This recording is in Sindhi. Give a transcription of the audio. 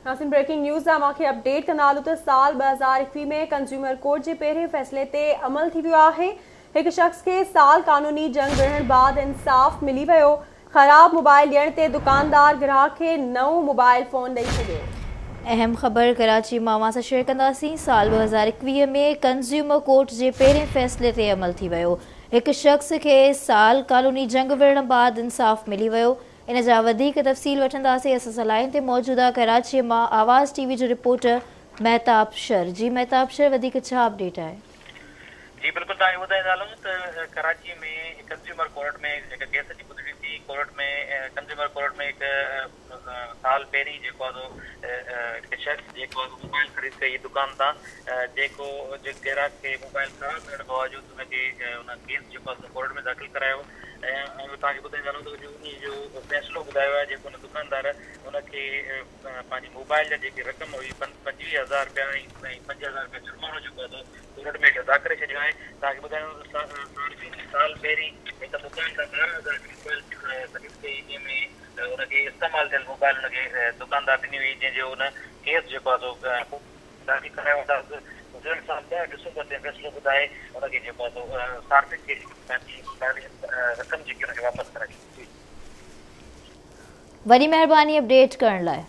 ناظرين بريڪنگ نيوز اوهان کي اپڊيٽ ڪندا هلون ته سال 2021 ۾ ڪنزيومر ڪورٽ جي پهرين فيصلي تي عمل ٿي ويو آهي هڪ شخص کي سال قانوني جنگ وڙهڻ بعد انصاف ملي ويو خراب موبائل ڏيڻ تي دڪاندار گراهڪ کي نئون موبائل فون ڏئي ڇڏيو. اهم خبر ڪراچي مان اوهان سان شيئر ڪنداسين سال 2021 ۾ ڪنزيومر ڪورٽ جي پهرين فيصلي تي عمل ٿي ويو هڪ شخص کي سال قانوني جنگ وڙهڻ بعد انصاف ملي ويو ان جا وڌيڪ تفصيل وٺنداسين اسان سان لائين تي موجود آ ڪراچي مان آواز ٽي وي جو رپورٽر مهتاب شر جي مهتاب شر وڌيڪ ڇا اپڊيٽ آهي. جي بلڪل توهان کي ٻڌائيندا هلون ته ڪراچي ۾ ڪنزيومر ڪورٽ ۾ هڪ ڪيس جي ٻڌڻي ٿي ڪورٽ ۾ ڪنزيومر ڪورٽ ۾ هڪ سال پهرين جيڪو آ سو هڪ شخص جيڪو آ سو موبائل خريد ڪئي دڪان تان جيڪو گراهڪ کي موبائل خراب ملڻ باوجود ان کي ان ڪيس جيڪو آ سو ڪورٽ ۾ داخل ڪرايو ۽ توهان کي ٻڌائيندا هلون ته انهي جو فيصلو ٻڌايو آهي جيڪو ان دڪاندار ان کي پنهنجي موبائل جا جيڪي رقم هئي 25 هزار رپيا ۽ 5000 رپيا جرمانو جيڪو آهي سو ڪورٽ ۾ ادا ڪري ڇڏيو آهي. توهان کي ٻڌايان ته صارفين سال پهرين هڪ دڪان تان 12,000 جي موبائل خريد ڪئي جنهن ۾ ان کي استعمال ٿيل موبائل ان کي دڪاندار ڏني هئي جنهن جو ان ڪيس جيڪو آهي سو داخل ڪرايو. عدالت گذريل سال 10 ڊسمبر تي فيصلو ٻڌائي ان کي جيڪو آهي سو صارفين کي پنهنجي رقم جيڪي ان کي واپس ڪرائي ڇڏي. وڏي مهرباني اپڊيٽ ڪرڻ لاء.